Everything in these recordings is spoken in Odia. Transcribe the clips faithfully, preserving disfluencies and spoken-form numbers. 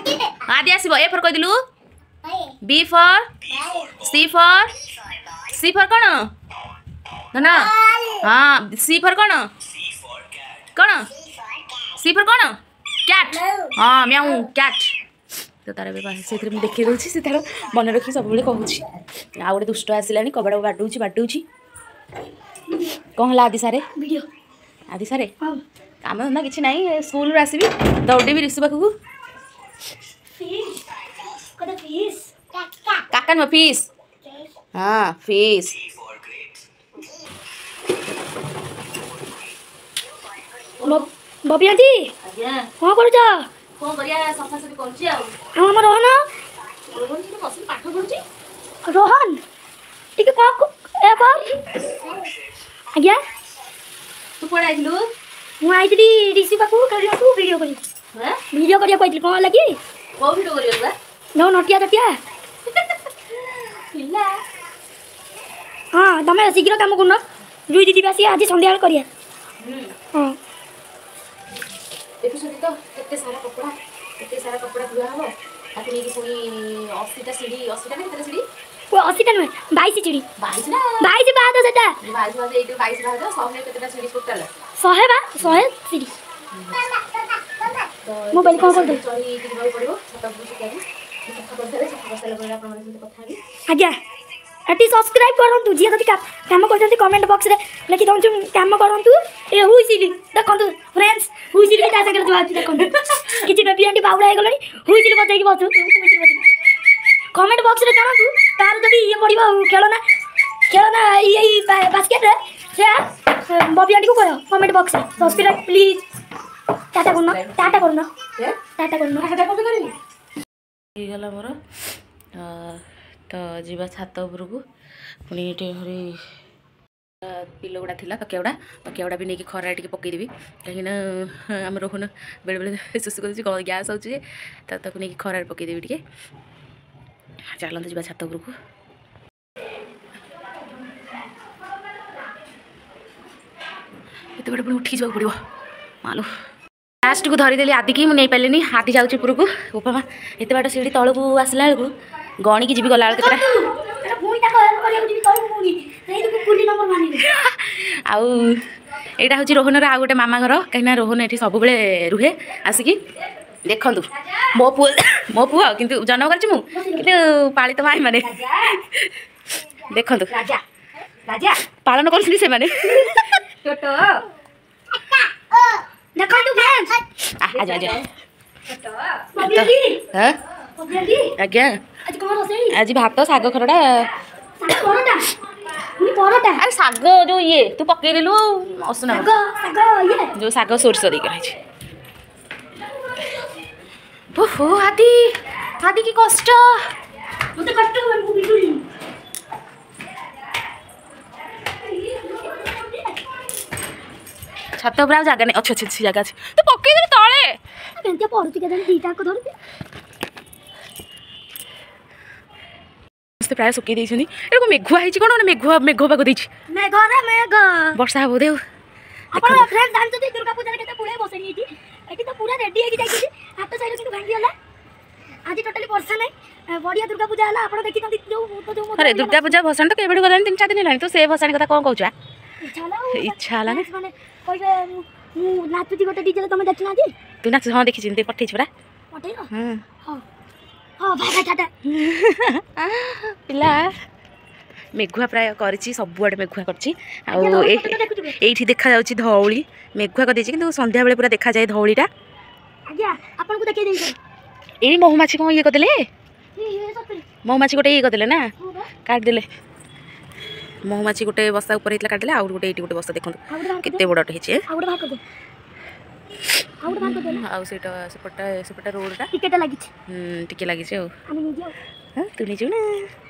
ଆଦି ଆସିବ ଏ ଫର୍ କହିଦେଲୁ B for C for C for କ'ଣ ଧନ ହଁ ସି ଫର୍ କ'ଣ କ'ଣ ସି ଫର୍ କ'ଣ କ୍ୟାଟ୍ ହଁ ମ୍ୟାଉ କ୍ୟାଟ୍ ତ ତାର ଏବେ ସେଇଥିରେ ମୁଁ ଦେଖେଇ ଦେଉଛି ସେ ତାର ମନେ ରଖି ସବୁବେଳେ କହୁଛି ଆଉ ଗୋଟେ ଦୁଷ୍ଟ ଆସିଲାଣି କବାଟ ବାଡ଼ଉଛି ବାଡ଼ଉଛି କ'ଣ ହେଲା ଆଦି ସାରେ ଭିଡ଼ିଓ ଆଦି ସାରେ କାମ ଧନ୍ଦା କିଛି ନାହିଁ ସ୍କୁଲରୁ ଆସିବି ଦୌଡ଼ିବି ରିଷୁ ପାଖକୁ ଫିସ୍ କତ ଫିସ୍ କାକା ନୁହଁ ଫିସ୍ ହଁ ଫିସ୍ ବବି ଆଣ୍ଟି ଆଜ୍ଞା କ'ଣ କରୁଛ କ'ଣ କରିବା ସଫାସଫି କରୁଛି ଆଉ ଆଉ ଆମ ରୋହନ ରୋହନ ସେଠି ବସିକି ପାଠ ପଢୁଛି ରୋହନ ଟିକେ କ'ଣ ଏ କର ଆଜ୍ଞା ତୁ କୁଆଡ଼େ ଆଇଥିଲୁ ମୁଁ ଆଇଥିଲି ରିଷି ପାଖକୁ ଖେଳିବାକୁ ଭିଡ଼ିଓ କରିବାକୁ ହଁ ଭିଡ଼ିଓ କରିବାକୁ ଆଇଥିଲି କ'ଣ ହେଲା କି କୋଉ ଭିଡ଼ିଓ କରିବାକୁ ବା ନୋ ନଟିଆ ଚଟିଆ ପିଲା ହଁ ତମେ ଶୀଘ୍ର କାମ କରୁନ ଜୁଇ ଦିଦି ବି ଆସିବେ ଆଜି ସନ୍ଧ୍ୟାବେଳେ କରିବା ହଁ ଦେଖୁଛନ୍ତି ତ କେତେ ସାରା କପଡ଼ା କେତେ ସାରା କପଡ଼ା ଧୁଆ ହବ ତାକୁ ନେଇକି ପୁଣି ଅଶୀଟା ସିଢ଼ି ଅଶୀଟା ନା କେତେଟା ସିଢ଼ି ଓ ଅଶୀଟା ନୁହେଁ ବାଇଶ ସିଢ଼ି ବାଇଶ ନା ବାଇଶ ପାହାଚ ସେଟା ବାଇଶ ପାହାଚ ଏଇଠି ବାଇଶ ପାହାଚ ଶହେ କେତେଟା ସିଢ଼ି ଟୋଟାଲ ଶହେ ବା ଶହେ ସିଢ଼ି ତ ମୋବାଇଲ କ'ଣ କରିଦେବି ଚଢ଼ିକି ଯିବାକୁ ପଡ଼ିବ ଛାତ ଉପରକୁ ଶୁଖିବାକୁ ସଫା କରିସାରେ ସଫା କରିସାରିଲା ପରେ ଆପଣମାନଙ୍କ ସହିତ କଥା ହେବି ଆଜ୍ଞା ଏଠି ସବସ୍କ୍ରାଇବ୍ କରନ୍ତୁ ଯିଏ ଯଦି କାମ କରୁଛନ୍ତି କମେଣ୍ଟ ବକ୍ସରେ ଲେଖି ଦିଅନ୍ତୁ କାମ କରନ୍ତୁ ଏ ହୁଇସିଲି ଦେଖନ୍ତୁ ଫ୍ରେଣ୍ଡସ୍ ହୁଇସିଲି ବି ତା ସାଙ୍ଗରେ ଯୁଆ ଅଛି ଦେଖନ୍ତୁ କିଛି ବେବି ଆଣ୍ଟି ବାଉଳା ହେଇଗଲେଣି ହୁଇସିଲି ବଜେଇକି ବସୁ ହୁଇସିଲି ବଜେଇକି କମେଣ୍ଟ ବକ୍ସରେ ଜଣାନ୍ତୁ ତାର ଯଦି ଇଏ ପଡ଼ିବ ଖେଳନା ଖେଳନା ଏଇ ଏଇ ବାସ୍କେଟରେ ସେ ବବି ଆଣ୍ଟିକୁ କହିବ କମେଣ୍ଟ ବକ୍ସରେ ସବସ୍କ୍ରାଇବ୍ ପ୍ଲିଜ୍ ଟାଟା କରୁନ ଟାଟା କରୁନ ଟାଟା କରୁନ ଟାଟା କଣ କରିବି ହେଇଗଲା ମୋର ତ ଯିବା ଛାତ ଉପରକୁ ପୁଣି ଏଠି ଆହୁରି ପିଲୋ ଗୁଡ଼ା ଥିଲା ତକିଆ ଗୁଡ଼ା ତକିଆ ଗୁଡ଼ା ବି ନେଇକି ଖରାରେ ଟିକେ ପକେଇଦେବି କାହିଁକିନା ଆମ ରୋହନ ବେଳେବେଳେ ଶୁଶୁ କରୁଛି ଗ୍ୟାସ୍ ହେଉଛି ଯେ ତ ତାକୁ ନେଇକି ଖରାରେ ପକେଇଦେବି ଟିକେ ଚାଲନ୍ତୁ ଯିବା ଛାତ ଉପରକୁ ଏତେ ବାଟ ପୁଣି ଉଠିକି ଯିବାକୁ ପଡ଼ିବ ମାଲୋ ଲାଷ୍ଟକୁ ଧରିଦେଲି ଆଦିକି ମୁଁ ନେଇପାରିଲିନି ଆଦି ଯାଉଛି ଉପରକୁ ଉପମା ଏତେ ବାଟ ସିଢ଼ି ତଳକୁ ଆସିଲା ବେଳକୁ ଗଣିକି ଯିବି ଗଲାବେଳକୁ କେତେଟା ପୁଣି ତାକୁ ହେଲ୍ପ କରିବାକୁ ଯିବି ତଳକୁ ପୁଣି ସେଇଥିକୁ କୁଲି ନମ୍ବର ମାନିବି ଆଉ ଏଇଟା ହେଉଛି ରୋହନର ଆଉ ଗୋଟେ ମାମା ଘର କାହିଁକିନା ରୋହନ ଏଠି ସବୁବେଳେ ରୁହେ ଆସିକି ଦେଖନ୍ତୁ ମୋ ପୁଅ ମୋ ପୁଅ କିନ୍ତୁ ଜନ୍ମ କରିଛି ମୁଁ କିନ୍ତୁ ପାଳିତ ମାଇଁ ମାନେ ଦେଖନ୍ତୁ ରାଜା ରାଜା ପାଳନ କରୁଛନ୍ତି ସେମାନେ ଛୋଟ ଦେଖନ୍ତୁ ଫ୍ରେଣ୍ଡସ୍ ଆଜ ଆଜ ବବି ଆଣ୍ଟି ହଁ ବବି ଆଣ୍ଟି ଆଜ୍ଞା ଆଜି କ'ଣ ରୋଷେଇ ଆଜି ଭାତ ଶାଗ ଖରଡ଼ା ଶାଗ ପରଟା ପୁଣି ପରଟା ଆରେ ଶାଗ ଯୋଉ ଇଏ ତୁ ପକେଇଦେଲୁ ଆଉ ଅସୁନା ଶାଗ ଶାଗ ଇଏ ଯୋଉ ଶାଗ ସୋରିଷ ଦେଇକି ରହିଛି ଓହୋ ଆଦି ଆଦି କି କଷ୍ଟ ମତେ କଷ୍ଟ ହବନି ମୁଁ ବିଜୁଳି ଛାତ ଉପରେ ଆଉ ଜାଗା ନାହିଁ ଅଛି ଅଛି ଅଛି ଜାଗା ଅଛି ତୁ ପକେଇଦେଲୁ ତଳେ କେମିତି ପଢୁଛି କେଜାଣି ଦିଟାଙ୍କ ଧରୁଛି ସମସ୍ତେ ପ୍ରାୟ ଶୁକେଇ ଦେଇଛନ୍ତି ଏଇଟା ମେଘୁଆ ହେଇଛି କ'ଣ ମାନେ ମେଘୁଆ ମେଘ ପାଗ ଦେଇଛି ମେଘ ରେ ମେଘ ବର୍ଷା ହବ ବୋଧେ ଆଉ ଆପଣ ଫ୍ରେଣ୍ଡ ଜାଣିଛନ୍ତି ଦୁର୍ଗା ପୂଜାରେ କେତେ ପୁଳେ ବସେଇ ହେଇଛି ଏଠି ତ ପୁରା ରେଡି ହେଇକି ଯାଇଛନ୍ତି ହାତ ସାଇଡ୍ କିନ୍ତୁ ଭାଙ୍ଗିଗଲା ଆଜି ଟୋଟାଲି ବର୍ଷା ନାହିଁ ବଢିଆ ଦୁର୍ଗା ପୂଜା ହେଲା ଆପଣ ଦେଖିଛନ୍ତି ଯୋଉ ତ ଯୋଉ ଆରେ ଦୁର୍ଗା ପୂଜା ଭସାଣି ତ କେବେଠୁ ଗଲାଣି ତିନି ଚାରି ଦିନ ହେଲାଣି ତ ସେ ଭସାଣି କଥା କ'ଣ କହୁଛୁ ଆ ଇଚ୍ଛା ହେଲା ଆଉ ଇଚ୍ଛା ହେଲା ନା ମାନେ କହିବେ ମୁଁ ମୁଁ ନାଚୁଛି ଗୋଟେ ଡିଜେରେ ତମେ ଦେଖିନାହାନ୍ତି ତୁ ନାଚ ହଁ ଦେଖିଛି ଏମିତି ପଠେଇଛୁ ପରା ପଠେଇଲ ହଁ ହଉ ହଉ ବାଏ ବାଏ ଟାଟା ପିଲା ମେଘୁଆ ପ୍ରାୟ କରିଛି ସବୁଆଡ଼େ ମେଘୁଆ କରିଛି ଆଉ ଆଜ୍ଞା, ଏ ଧଉଳି ଦେଖୁଥିବେ। ଏଇଠି ଦେଖାଯାଉଛି ଧଉଳି ମେଘୁଆ କରିଦେଇଛି କିନ୍ତୁ ସନ୍ଧ୍ୟାବେଳେ ପୁରା ଦେଖାଯାଏ ଧଉଳିଟା ଆଜ୍ଞା ଆପଣଙ୍କୁ ଦେଖେଇ ଦେଇଛି ଏଇ ମହୁମାଛି କ'ଣ ଇଏ କରିଦେଲେ ଏ ଏ ସତରେ ମହୁମାଛି ଗୋଟେ ଇଏ କରିଦେଲେ ନା ହଁ ବା କାଟିଦେଲେ ମହୁମାଛି ଗୋଟେ ବସା ଉପରେ ହେଇଥିଲା କାଟିଦେଲେ ଆଉ ଗୋଟେ ଏଇଠି ଗୋଟେ ବସା ଦେଖନ୍ତୁ ଆଉ ଗୋଟେ ବାହାର କେତେ କରିଦେ ବଡ଼ଟେ ହେଇଛି ଆଉ ଗୋଟେ ବାହାର କରିଦେ ଆଉ ଗୋଟେ ବାହାର କରିଦେ ନା ଆଉ ସେଇଟା ସେପଟଟା ସେପଟଟା ରୋଡ଼ଟା ଟିକେଟା ଲାଗିଛି ଟିକେ ଲାଗିଛି ଆଉ ଆମେ ନେଇଯିବା ଆଉ ହଁ ତୁ ନେଇଯିବୁ ନା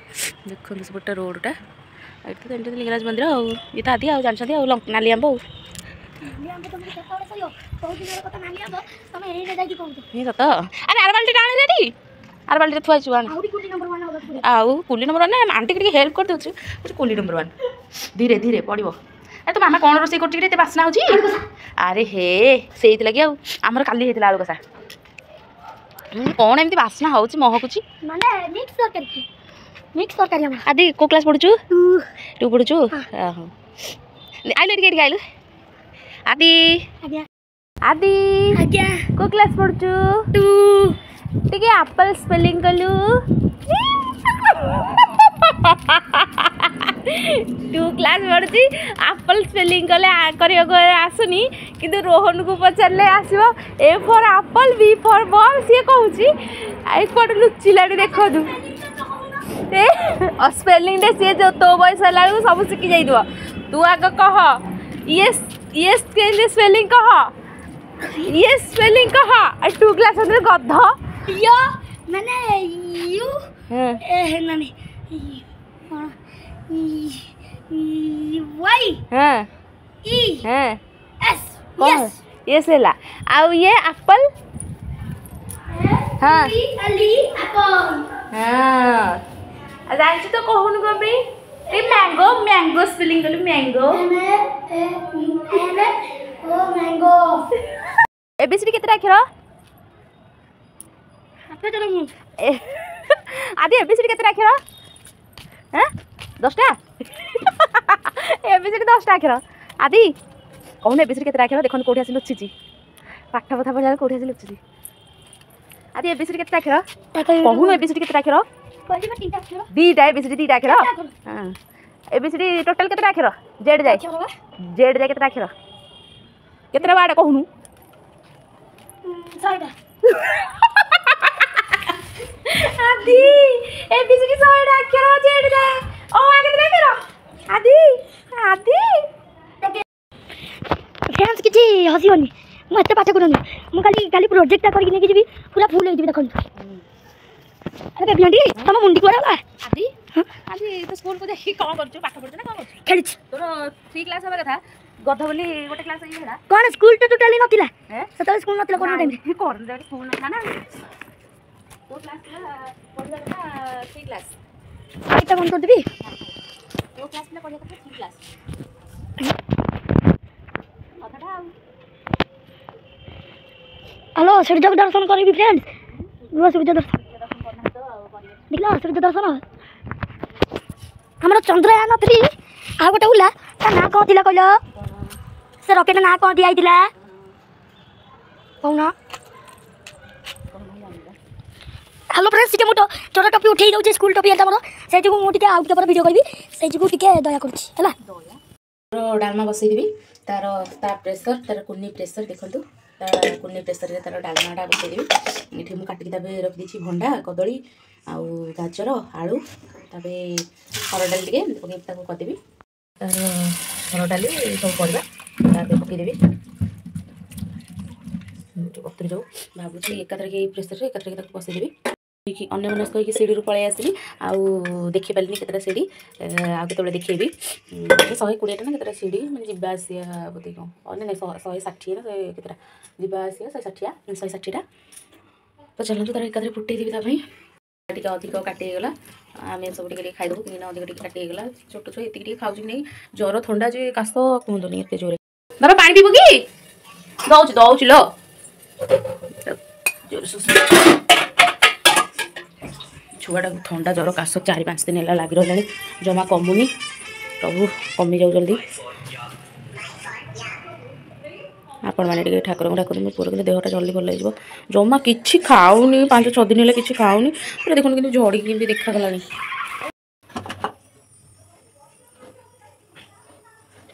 ଦେଖନ୍ତୁ ସେପଟଟା ରୋଡ଼ଟା ଏଇଠି ତ ଜାଣିଛନ୍ତି ଲିଙ୍ଗରାଜ ମନ୍ଦିର ଆଉ ଇଏ ତ ଆଦି ଆଉ ଜାଣିଛନ୍ତି ଆଉ ଲଙ୍କ- ନାଲି ଆମ୍ବ ଆଉ ନାଲି ଆମ୍ବ ତମକୁ କେତେବେଳେ ସରିବ ବହୁତ ଦିନର କଥା ନାଲି ଆମ୍ବ ତମେ ଏଇନେ ଯାଇକି କହୁଛ ହିଁ ସତ ଆରେ ଆର ବାଲ୍ଟିଟା ଆଣେ ରେଡ଼ି ଆର ବାଲ୍ଟିରେ ଥୁଆ ହେଇଛୁ ଆଣ ଆହୁରି କୁଲି ନମ୍ବର ୱାନ୍ ହବାକୁ ପଡ଼ିବ ଆଉ କୁଲି ନମ୍ବର ୱାନ୍ ଆଣ୍ଟିକି ଟିକେ ହେଲ୍ପ କରିଦେଉଛୁ କହୁଛି କୁଲି ନମ୍ବର ୱାନ୍ ଧୀରେ ଧୀରେ ପଡ଼ିବ ଆରେ ତୋ ମାମା କ'ଣ ରୋଷେଇ କରୁଛି କି ଏତେ ବାସ୍ନା ହେଉଛି ଆରେ ହେ ସେଇଥିଲାଗି ଆଉ ଆମର କାଲି ହେଇଥିଲା ଆଳୁ କଷା କ'ଣ ଏମିତି ବାସ୍ନା ହେଉଛି ମହକୁଛି ମାନେ ମିକ୍ସ ତରକାରୀ ମିକ୍ସ ତରକାରୀ ଆମର ଆଦି କୋଉ କ୍ଲାସ୍ ପଢୁଛୁ ଟୁ ପଢୁଛୁ ଓହୋ ଆଇଲୁ ଏଠିକି ଏଠିକି ଆଇଲୁ ଆଦି ଆଜ୍ଞା ଆଦି ଆଜ୍ଞା କୋଉ କ୍ଲାସ୍ ପଢୁଛୁ ଟୁ ଟିକେ ଆପଲ୍ ସ୍ପେଲିଂ କଲୁ ଟୁ କ୍ଲାସ୍ ପଢୁଛି ଆପଲ୍ ସ୍ପେଲିଂ କଲେ କରିବାକୁ ଆସୁନି କିନ୍ତୁ ରୋହନକୁ ପଚାରିଲେ ଆସିବ A for apple B for ball ସିଏ କହୁଛି ଏପଟେ ଲୁଚିଲାଣି ଦେଖନ୍ତୁ ଏ ସ୍ପେଲିଂଟା ସିଏ ଯେଉଁ ତୋ ବୟସ ହେଲା ବେଳକୁ ସବୁ ଶିଖି ଯାଇଥିବ ତୁ ଆଗ କହ ଇଏ ଇଏ କେମିତି ସ୍ପେଲିଂ କହ ଇଏ ସ୍ପେଲିଂ କହ ଟୁ କ୍ଲାସ୍ ଗଧ ୟ ମାନେ you ଏ ମାନେ କ'ଣ ୱାଇ ହଁ ଇ ହଁ ଏସ୍ ୟେସ୍ ୟେସ୍ ହେଲା ଆଉ ଇଏ ଆପଲ୍ ହଁ ଏଲ ଇ ଆପଲ୍ ହଁ ଆଉ ଜାଣିଛୁ ତ କହୁନୁ କ'ଣ ପାଇଁ ଏ ମ୍ୟାଙ୍ଗୋ ମ୍ୟାଙ୍ଗୋ ସ୍ପେଲିଂ କଲୁ mango M A N O mango ABCD କେତେଟା ଅକ୍ଷର ହାତ ମୁଁ ଆଦି ଏବିସିଡି କେତେଟା ଅକ୍ଷର ହଁ ଦଶଟା ଏବିସିଡି ଦଶଟା ଅକ୍ଷର ଆଦି କହୁନୁ ଏବିସିଡି କେତେଟା ଅକ୍ଷର ଦେଖନ୍ତୁ କୋଉଠି ଆସି ଲୁଚିଛି ପାଠ କଥା ପଢିଲା ବେଳେ କୋଉଠି ଆସି ଲୁଚିଛି ଆଦି ଏବିସିଡି କେତେଟା ଅକ୍ଷର କହୁନୁ ଏବିସିଡି କେତେଟା ଅକ୍ଷର କହିଲି ତିନିଟା ଅକ୍ଷର ଦିଟା ଏବିସିଡି ଦିଟା ଅକ୍ଷର ହଁ ଏବିସିଡି ଟୋଟାଲ କେତେଟା ଅକ୍ଷର ଜେଡ୍ ଯାଏ ଅକ୍ଷର ବା ଜେଡ୍ ଯାଏ କେତେଟା ଅକ୍ଷର କେତେଟା ୱାର୍ଡ କହୁନୁ ଶହେଟା ଆଦି ଏବିସିଡି ଶହେଟା ଅକ୍ଷର ଜେଡ୍ ଯାଏ ଓ ଆ କେତେଟା ଅକ୍ଷର ଆଦି ଆଦି ଫ୍ରେଣ୍ଡସ୍ କିଛି ହସିବନି ମୁଁ ଏତେ ପାଠ କରୁନି ମୁଁ କାଲି କାଲି ପ୍ରୋଜେକ୍ଟଟା କରିକି ନେଇକି ଯିବି ପୁରା ଫୁଲ୍ ହେଇଯିବି ଦେଖନ୍ତୁ ଆରେ ବେବି ଆଣ୍ଟି ତମ ମୁଣ୍ଡି କୁଆଡ଼େ ଗଲା ଆଦି ଆଜି ତୁ ସ୍କୁଲକୁ ଯାଇକି କ'ଣ କରୁଛୁ ପାଠ ପଢୁଛୁ ନା କ'ଣ କରୁଛୁ ଖେଳୁଛି ତୋର ଥ୍ରୀ କ୍ଲାସ୍ ହେବା କଥା ଗଧ ବୋଲି ଗୋଟେ କ୍ଲାସ୍ ହେଇଗଲା କ'ଣ ସ୍କୁଲ ତ ଟୋଟାଲି ନଥିଲା ହେଁ ସେତେବେଳେ ସ୍କୁଲ ନଥିଲା କରୋନା ଟାଇମ୍ରେ କରୋନା ଟାଇମ୍ରେ ସ୍କୁଲ ନଥିଲା ନା ତୋ କ୍ଲାସ୍ ଥିଲା ପଢିବା କଥା ଥ୍ରୀ କ୍ଲାସ୍ ଲାଇଟ୍ଟା ବନ୍ଦ କରିଦେବି ତୋ କ୍ଲାସ୍ ଥିଲା ପଢିବା କଥା ଥ୍ରୀ କ୍ଲାସ୍ କଥାଟା ଆଉ ହ୍ୟାଲୋ ସୂର୍ଯ୍ୟକୁ ଦର୍ଶନ କରିବି ଫ୍ରେଣ୍ଡ ରୁହ ସୂର୍ଯ୍ୟ ଦର୍ଶନ ଦର୍ଶନ କରିନାହାନ୍ତି ତ ଆଉ କରିବେ ଦେଖିଲ ସୂର୍ଯ୍ୟ ଦର୍ଶନ ଆମର ଚନ୍ଦ୍ରୟାନ ଥ୍ରୀ ଆଉ ଗୋଟେ ଉଲା ତା ନାଁ କ'ଣ ଥିଲା କହିଲ ସେ ରକେଟ ନାଁ କ'ଣ ଦିଆହେଇଥିଲା କହୁନ ହ୍ୟାଲୋ ଫ୍ରେଣ୍ଡସ୍ ଟିକେ ମୁଁ ଛୋଟ ଟୋପି ଉଠେଇ ଦେଉଛି ସ୍କୁଲ ଟୋପି ଏଟା ମୋର ସେଇ ଯୋଗୁଁ ମୁଁ ଟିକେ ଆଉ ଟିକେ ପରେ ଭିଡ଼ିଓ କରିବି ସେଇ ଯୋଗୁଁ ଟିକେ ଦୟା କରୁଛି ହେଲା ଡାଲମା ବସେଇଦେବି ତାର ତା ପ୍ରେସର ତାର କୁନି ପ୍ରେସର ଦେଖନ୍ତୁ ତା କୁନି ପ୍ରେସରରେ ତାର ଡାଲମାଟା ବସେଇଦେବି ଏଠି ମୁଁ କାଟିକି ତାପରେ ରଖିଦେଇଛି ଭଣ୍ଡା କଦଳୀ ଆଉ ଗାଜର ଆଳୁ ତାପରେ ହରଡ଼ ଡାଲି ଟିକେ ଏମିତି ପକେଇକି ତାକୁ କରିଦେବି ତାର ହରଡ଼ ଡାଲି ସବୁ ପରିବା ତାପରେ ପକେଇଦେବି ବତୁରି ଯାଉ ଭାବୁଛି ଏକାଥରକେ ଏଇ ପ୍ରେସରରେ ଏକାଥରକେ ତାକୁ ବସେଇଦେବି ଅନ୍ୟମନସ୍କ ହେଇକି ସିଡ଼ିରୁ ପଳେଇ ଆସିଲି ଆଉ ଦେଖିପାରିଲିନି କେତେଟା ସିଡ଼ି ଆଉ କେତେବେଳେ ଦେଖେଇବି ଶହେ କୋଡ଼ିଏଟା ନା କେତେଟା ସିଡ଼ି ମାନେ ଯିବା ଆସିବା ବୋଧେ କ'ଣ ନାଇଁ ନାଇଁ ଶହେ ଷାଠିଏ ନା ଶହେ କେତେଟା ଯିବା ଆସିବା ଶହେ ଷାଠିଏ ଶହେ ଷାଠିଏଟା ତ ଚାଲନ୍ତୁ ତାର ଏକାଥରେ ଫୁଟେଇ ଦେବି ତା ପାଇଁ ଟିକେ ଅଧିକ କାଟି ହେଇଗଲା ଆମେ ସବୁ ଟିକେ ଟିକେ ଖାଇଦେବୁ କାହିଁକିନା ଅଧିକ ଟିକେ କାଟି ହେଇଗଲା ଛୋଟ ଛୁଆ ଏତିକି ଟିକେ ଖାଉଛି କି ନାହିଁ ଜ୍ୱର ଥଣ୍ଡା ଯେ କାଶ କୁହନ୍ତୁନି ଏତେ ଜୋରେ ବାବା ପାଣି ପିଇବୁ କି ଦଉଛି ଦଉଛି ଲୋ ଜୋରେ ଶୋଷ ଛୁଆଟାକୁ ଥଣ୍ଡା ଜ୍ୱର କାଶ ଚାରି ପାଞ୍ଚ ଦିନ ହେଲା ଲାଗି ରହିଲାଣି ଜମା କମୁନି ପ୍ରଭୁ କମିଯାଉ ଜଲ୍ଦି ଆପଣମାନେ ଟିକେ ଠାକୁରଙ୍କୁ ଡାକନ୍ତୁ ମୋ ପୁଅର କିନ୍ତୁ ଦେହଟା ଜଲ୍ଦି ଭଲ ହେଇଯିବ ଜମା କିଛି ଖାଉନି ପାଞ୍ଚ ଛଅ ଦିନ ହେଲା କିଛି ଖାଉନି ପୁରା ଦେଖନ୍ତୁ କିନ୍ତୁ ଝଡ଼ିକି କେମିତି ଦେଖାଗଲାଣି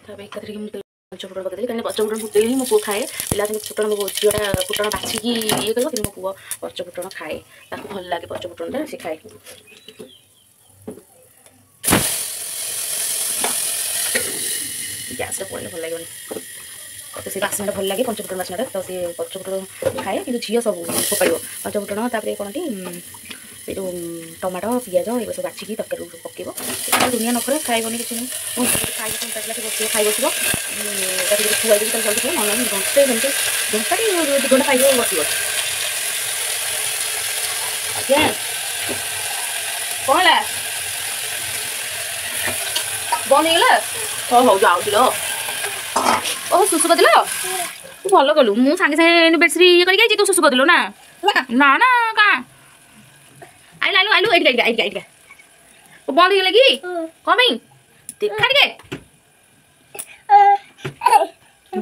ତାପରେ ଏକାଥରକେ ମୁଁ ପଞ୍ଚ ଫୁଟଣ ପକେଇଦେଲି କାହିଁକିନା ପଞ୍ଚ ଫୁଟଣ ଫୁଟେଇଲେ ହିଁ ମୋ ପୁଅ ଖାଏ ପିଲା ଅଛନ୍ତି ଫୁଟଣ ମୋ ଝିଅଟା ଫୁଟଣ ବାଛିକି ଇଏ କରିବ କିନ୍ତୁ ମୋ ପୁଅ ପଞ୍ଚ ଫୁଟଣ ଖାଏ ତାକୁ ଭଲ ଲାଗେ ପଞ୍ଚ ଫୁଟଣଟା ସେ ଖାଏ ଗ୍ୟାସ୍ରେ ପଡ଼ିଲେ ଭଲ ଲାଗିବନି ତ ସେ ବାସ୍ନାଟା ଭଲ ଲାଗେ ପଞ୍ଚ ଫୁଟଣ ବାସ୍ନାଟା ତ ସେ ପଞ୍ଚ ଫୁଟଣ ଖାଏ କିନ୍ତୁ ଝିଅ ସବୁ ଫୋପାଡ଼ିବ ପଞ୍ଚ ଫୁଟଣ ତାପରେ କ'ଣଟି ସେ ଯେଉଁ ଟମାଟୋ ପିଆଜ ଏଗୁଡ଼ା ସବୁ ବାଛିକି ତରକାରୀ ପକେଇବ ଦୁନିଆ ନଖରେ ଖାଇବନି କିଛି ନାହିଁ ମୁଁ ଖାଇବ ତାକୁ ବସିବ ଖାଇ ବସିବ ତାକୁ ଯଦି ଖୁଆଇ ଦେବି ତାହେଲେ ଜଲ୍ଦି ଖାଇବ ନହେଲେ ଘଣ୍ଟେ ଘଣ୍ଟେ ଘଣ୍ଟାଟି ଦୁଇ ଘଣ୍ଟା ଖାଇବ ବସିବ ଆଜ୍ଞା କ'ଣ ହେଲା ବନ୍ଦ ହେଇଗଲା ହଉ ହଉ ଯାଉଛି ଲୋ ଓହୋ ଶୁଶୁ କରିଦେଲ ତୁ ଭଲ କଲୁ ମୁଁ ସାଙ୍ଗେ ସାଙ୍ଗେ ବେଡସିଟ୍ ଇଏ କରିକି ଆଇଛି ତୁ ଶୁଶୁ କରିଦେଲୁ ନା ନା ନା ଆଇଲୁ ଆଇଲୁ ଆଇଲୁ, ଏଇଠି ଏଇଠି ଏଇଠି ଏଇଠି। ବନ୍ଦ ହେଇଗଲା କି? କଣ ପାଇଁ ଦେଖା ଟିକେ,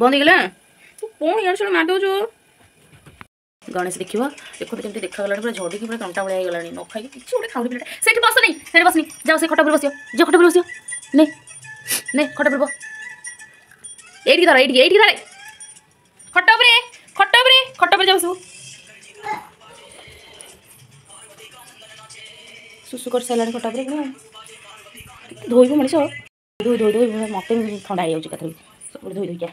ବନ୍ଦ ହେଇଗଲା। ତୁ କଣ ଇଆଡ଼େ ସିଆଡ଼େ ମାରି ଦଉଛୁ? ଗଣେଶ ଦେଖିବ, ଦେଖନ୍ତୁ କେମିତି ଦେଖାଗଲାଣି, ପୁରା ଝଡ଼ିକି ପୁରା ତଣ୍ଟା ଭଳିଆ ହେଇଗଲାଣି। ନ ଖାଇକି କିଛି ଗୋଟେ ଖାଉନି ପିଲାଟା। ସେଇଠି ବସନି, ସେଇଠି ବସନି, ଯାଅ ସେ ଖଟ ଉପରେ ବସିବ। ଯାଅ ଖଟ ଉପରେ ବସିବ। ନେ ନେ, ଖଟ ଉପରେ ବ। ଏଇଠିକି ଧର, ଏଇଠିକି ଏଇଠିକି ଧରେ। ଖଟ ଉପରେ, ଖଟ ଉପରେ, ଖଟ ଉପରେ ଯା ବସିବୁ। ସୁସୁ କରିସାରିଲାଣି ଖଟ ଉପରେ। ପୁଣି ଧୋଇବୁ ମଣିଷ, ଧୋଇ ଧୋଇ ଧୋଇ ମୋତେ ଥଣ୍ଡା ହେଇଯାଉଛି ଏକାଥରେ। ସବୁବେଳେ ଧୋଇ ଧୋଇକା।